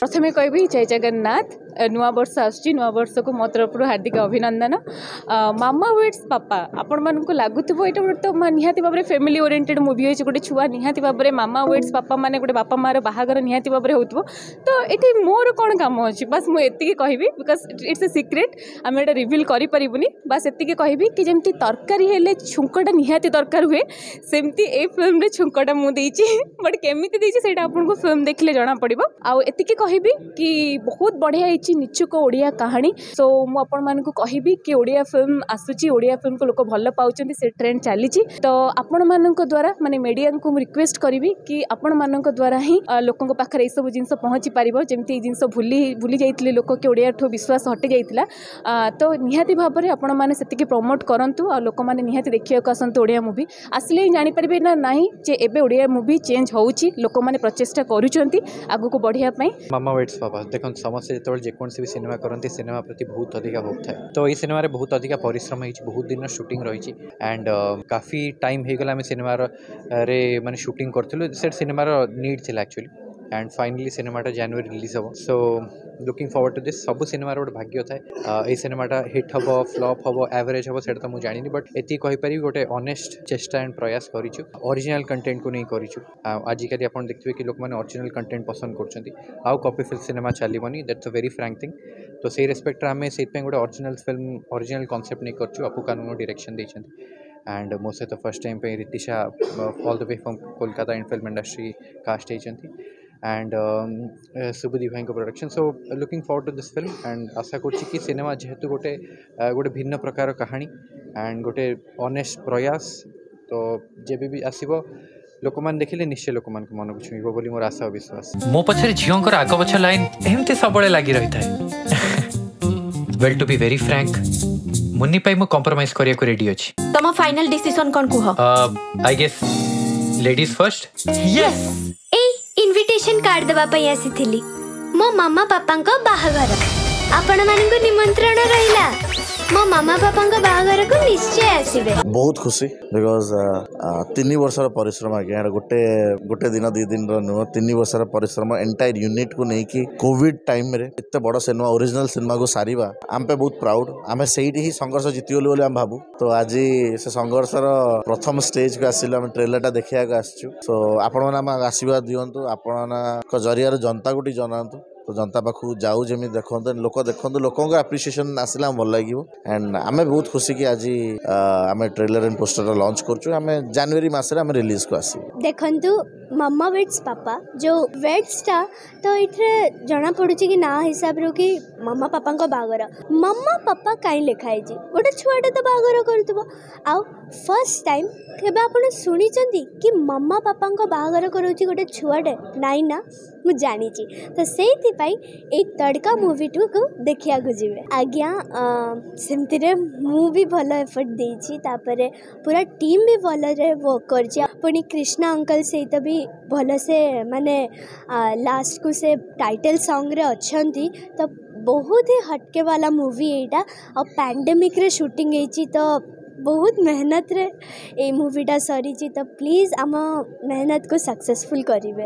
ପ୍ରଥମେ କହିବି ଜୟ ଜଗନ୍ନାଥ। ନୂଆ ବର୍ଷ ଆସୁଛି, ନୂଆ ବର୍ଷକୁ ମୋ ତରଫରୁ ହାର୍ଦ୍ଦିକ ଅଭିନନ୍ଦନ। ମାମା ୱେଡ୍ସ ପାପା, ଆପଣମାନଙ୍କୁ ଲାଗୁଥିବ ଏଇଟା ଗୋଟେ ତ ନିହାତି ଭାବରେ ଫ୍ୟାମିଲି ଓରିଏଣ୍ଟେଡ଼ ମୁଭି ହେଇଛି, ଗୋଟେ ଛୁଆ ନିହାତି ଭାବରେ ମାମା ୱେଡ୍ସ ପାପା ମାନେ ଗୋଟେ ବାପା ମାଆର ବାହାଘର ନିହାତି ଭାବରେ ହେଉଥିବ, ତ ଏଠି ମୋର କ'ଣ କାମ ଅଛି? ବାସ୍ ମୁଁ ଏତିକି କହିବି, because it's a secret, ଆମେ ଏଇଟା ରିଭିଲ୍ କରିପାରିବୁନି। ବାସ୍ ଏତିକି କହିବି କି ଯେମିତି ତରକାରୀ ହେଲେ ଛୁଙ୍କଟା ନିହାତି ଦରକାର ହୁଏ, ସେମିତି ଏଇ ଫିଲ୍ମରେ ଛୁଙ୍କଟା ମୁଁ ଦେଇଛି, ବଟ୍ କେମିତି ଦେଇଛି ସେଇଟା ଆପଣଙ୍କୁ ଫିଲ୍ମ ଦେଖିଲେ ଜଣାପଡ଼ିବ। ଆଉ ଏତିକି କହିବି କି ବହୁତ ବଢ଼ିଆ ହେଇଛି ନିଛୁକ ଓଡ଼ିଆ କାହାଣୀ। ସୋ ମୁଁ ଆପଣମାନଙ୍କୁ କହିବି କି ଓଡ଼ିଆ ଫିଲ୍ମ ଆସୁଛି, ଓଡ଼ିଆ ଫିଲ୍ମକୁ ଲୋକ ଭଲ ପାଉଛନ୍ତି, ସେ ଟ୍ରେଣ୍ଡ ଚାଲିଛି। ତ ଆପଣମାନଙ୍କ ଦ୍ୱାରା, ମାନେ ମିଡ଼ିଆଙ୍କୁ ମୁଁ ରିକ୍ୱେଷ୍ଟ କରିବି କି ଆପଣମାନଙ୍କ ଦ୍ୱାରା ହିଁ ଲୋକଙ୍କ ପାଖରେ ଏଇସବୁ ଜିନିଷ ପହଞ୍ଚି ପାରିବ। ଯେମିତି ଏଇ ଜିନିଷ ଭୁଲି ଯାଇଥିଲେ ଲୋକ କି ଓଡ଼ିଆଠୁ ବିଶ୍ୱାସ ହଟି ଯାଇଥିଲା, ତ ନିହାତି ଭାବରେ ଆପଣମାନେ ସେତିକି ପ୍ରମୋଟ୍ କରନ୍ତୁ ଆଉ ଲୋକମାନେ ନିହାତି ଦେଖିବାକୁ ଆସନ୍ତୁ। ଓଡ଼ିଆ ମୁଭି ଆସିଲେ ହିଁ ଜାଣିପାରିବେ ନା ନାହିଁ ଯେ ଏବେ ଓଡ଼ିଆ ମୁଭି ଚେଞ୍ଜ ହେଉଛି, ଲୋକମାନେ ପ୍ରଚେଷ୍ଟା କରୁଛନ୍ତି ଆଗକୁ ବଢ଼ିବା ପାଇଁ। ମାମା ୱେଡ୍ସ ବାବା, ଦେଖନ୍ତୁ, ସମସ୍ତେ ଯେତେବେଳେ ଯେକୌଣସି ବି ସିନେମା କରନ୍ତି, ସିନେମା ପ୍ରତି ବହୁତ ଅଧିକା ହୋପ୍ ଥାଏ। ତ ଏଇ ସିନେମାରେ ବହୁତ ଅଧିକା ପରିଶ୍ରମ ହେଇଛି, ବହୁତ ଦିନର ସୁଟିଂ ରହିଛି ଆଣ୍ଡ କାଫି ଟାଇମ୍ ହେଇଗଲା ଆମେ ସିନେମାର ରେ ମାନେ ସୁଟିଂ କରିଥିଲୁ। ସେ ସିନେମାର ନିଡ୍ ଥିଲା ଆକ୍ଚୁଆଲି, ଆଣ୍ଡ ଫାଇନାଲି ସିନେମାଟା ଜାନୁଆରୀ ରିଲିଜ୍ ହେବ, so looking forward to this. ସବୁ ସିନେମାର ଗୋଟେ ଭାଗ୍ୟ ଥାଏ, ଏଇ ସିନେମାଟା ହିଟ୍ ହେବ, ଫ୍ଲପ୍ ହେବ, ଆଭରେଜ୍ ହେବ, ସେଇଟା ତ ମୁଁ ଜାଣିନି, ବଟ୍ ଏତିକି କହିପାରିବି ଗୋଟେ ଅନେଷ୍ଟ ଚେଷ୍ଟା ଆଣ୍ଡ ପ୍ରୟାସ କରିଛୁ, ଅରିଜିନାଲ୍ କଣ୍ଟେଣ୍ଟକୁ ନେଇ କରିଛୁ। ଆଉ ଆଜିକାଲି ଆପଣ ଦେଖିଥିବେ କି ଲୋକମାନେ ଅରିଜିନାଲ୍ କଣ୍ଟେଣ୍ଟ ପସନ୍ଦ କରୁଛନ୍ତି, ଆଉ କପି ଫିଲ୍ମ ସିନେମା ଚାଲିବନି, that's a very frank thing. ତ ସେଇ ରେସ୍ପେକ୍ଟରେ ଆମେ ସେଇଥିପାଇଁ ଗୋଟେ ଅରିଜିନାଲ୍ ଫିଲ୍ମ, ଅରିଜିନାଲ୍ କନସେପ୍ଟ ନେଇ କରିଛୁ। ଅପୁ କାନୁନଗୋ ଡିରେକ୍ସନ୍ ଦେଇଛନ୍ତି ଆଣ୍ଡ ମୋ ସହିତ ଫର୍ଷ୍ଟ ଟାଇମ୍ ପାଇଁ ରିତିଶା all the way from Kolkata in film industry cast ହେଇଛନ୍ତି ଆଣ୍ଡ ଶୁଭଦୀପ ଭାଇଙ୍କ production. So looking forward to this film and ଆଶା କରୁଛି କି ସିନେମା ଯେହେତୁ ଗୋଟେ ଭିନ୍ନ ପ୍ରକାର କାହାଣୀ ଆଣ୍ଡ ଗୋଟେ ଅନେଷ୍ଟ ପ୍ରୟାସ, ତ ଯେବେ ବି ଆସିବ ଲୋକମାନେ ଦେଖିଲେ ନିଶ୍ଚୟ ଲୋକମାନଙ୍କ ମନକୁ ଛୁଇଁବ ବୋଲି ମୋର ଆଶା ଓ ବିଶ୍ୱାସ। ମୋ ପଛରେ ଝିଅଙ୍କର ଆଗ ପଛ ଲାଇନ୍ ଏମିତି ସବୁବେଳେ ଲାଗି ରହିଥାଏ। Well, to be very frank, Munni ପାଇଁ ମୁଁ କମ୍ପ୍ରମାଇଜ କରିବାକୁ ରେଡି ଅଛି। ତମ ଫାଇନାଲ ଡିସିସନ କଣ କୁହ? I guess ladies first. Yes. ଏଇ ଇନଭିଟେସନ କାର୍ଡ ଦେବା ପାଇଁ ଆସିଥିଲି। ମୋ ମାମା ପାପାଙ୍କ ବାହାଘର, ଆପଣମାନଙ୍କୁ ନିମନ୍ତ୍ରଣ ରହିଲା। ମୋ ମାମା ପାପାଙ୍କ ବାହାଘରକୁ ନିଶ୍ଚୟ ଆସିବେ। ବହୁତ ଖୁସି, because 3 ବର୍ଷର ପରିଶ୍ରମ ଆଜ୍ଞା, ଏଇଟା ଗୋଟେ ଦିନ 2 ଦିନର ନୁହଁ, 3 ବର୍ଷର ପରିଶ୍ରମ ଏଣ୍ଟାୟାର ୟୁନିଟ୍କୁ ନେଇକି କୋଭିଡ ଟାଇମ୍ରେ ଏତେ ବଡ଼ ସିନେମା, ଅରିଜିନାଲ ସିନେମାକୁ ସାରିବା ଆମ ପାଇଁ ବହୁତ ପ୍ରାଉଡ୍। ଆମେ ସେଇଠି ହିଁ ସଂଘର୍ଷ ଜିତିଗଲୁ ବୋଲି ଆମେ ଭାବୁ। ତ ଆଜି ସେ ସଂଘର୍ଷର ପ୍ରଥମ ଷ୍ଟେଜକୁ ଆସିଲୁ, ଆମେ ଟ୍ରେଲରଟା ଦେଖିବାକୁ ଆସିଛୁ। ସୋ ଆପଣମାନେ ଆମ ଆଶୀର୍ବାଦ ଦିଅନ୍ତୁ, ଆପଣଙ୍କ ଜରିଆରେ ଜନତାକୁ ଟିକେ ଜଣାନ୍ତୁ, ତ ଜନତା ପାଖକୁ ଯାଉ, ଯେମିତି ଦେଖନ୍ତୁ ଲୋକ, ଦେଖନ୍ତୁ ଲୋକଙ୍କ ଆପ୍ରିସିଏସନ୍ ଆସିଲେ ଆମକୁ ଭଲ ଲାଗିବ। ଆଣ୍ଡ ଆମେ ବହୁତ ଖୁସି କି ଆଜି ଆମେ ଟ୍ରେଲର ଆଣ୍ଡ ପୋଷ୍ଟରଟା ଲଞ୍ଚ କରୁଛୁ। ଆମେ ଜାନୁଆରୀ ମାସରେ ଆମେ ରିଲିଜକୁ ଆସିବୁ। ଦେଖନ୍ତୁ, ମାମା ୱେଡ୍ସ ପାପା ଯେଉଁ ୱେଡ୍ସଟା, ତ ଏଇଥିରେ ଜଣାପଡ଼ୁଛି କି ନାଁ ହିସାବରୁ କି ମାମା ପାପାଙ୍କ ବାହାଘର। ମାମା ପାପା କାହିଁ ଲେଖା ହେଇଛି? ଗୋଟେ ଛୁଆଟା ତ ବାହାଘର କରୁଥିବ। ଆଉ ଫାର୍ଷ୍ଟ ଟାଇମ୍ କେବେ ଆପଣ ଶୁଣିଛନ୍ତି କି ମାମା ପାପାଙ୍କ ବାହାଘର କରାଉଛି ଗୋଟେ ଛୁଆଟେ? ନାଇଁ ନା, ମୁଁ ଜାଣିଛି। ତ ସେଇଥିପାଇଁ ଏଇ ତଡ଼କା ମୁଭିଟିକୁ ଦେଖିବାକୁ ଯିବେ ଆଜ୍ଞା। ସେମିତିରେ ମୁଁ ବି ଭଲ ଏଫର୍ଟ ଦେଇଛି, ତାପରେ ପୁରା ଟିମ୍ ବି ଭଲରେ ୱାର୍କ କରିଛି। ପୁଣି କୃଷ୍ଣା ଅଙ୍କଲ ସହିତ ବି ଭଲସେ, ମାନେ ଲାଷ୍ଟକୁ ସେ ଟାଇଟଲ୍ ସଙ୍ଗରେ ଅଛନ୍ତି। ତ ବହୁତ ହି ହଟକେ ବାଲା ମୁଭି ଏଇଟା, ଆଉ ପ୍ୟାଣ୍ଡେମିକ୍ରେ ସୁଟିଂ ହେଇଛି, ତ ବହୁତ ମେହନତରେ ଏଇ ମୁଭିଟା ସରିଛି। ତ ପ୍ଲିଜ୍ ଆମ ମେହନତକୁ ସକ୍ସେସଫୁଲ୍ କରିବେ।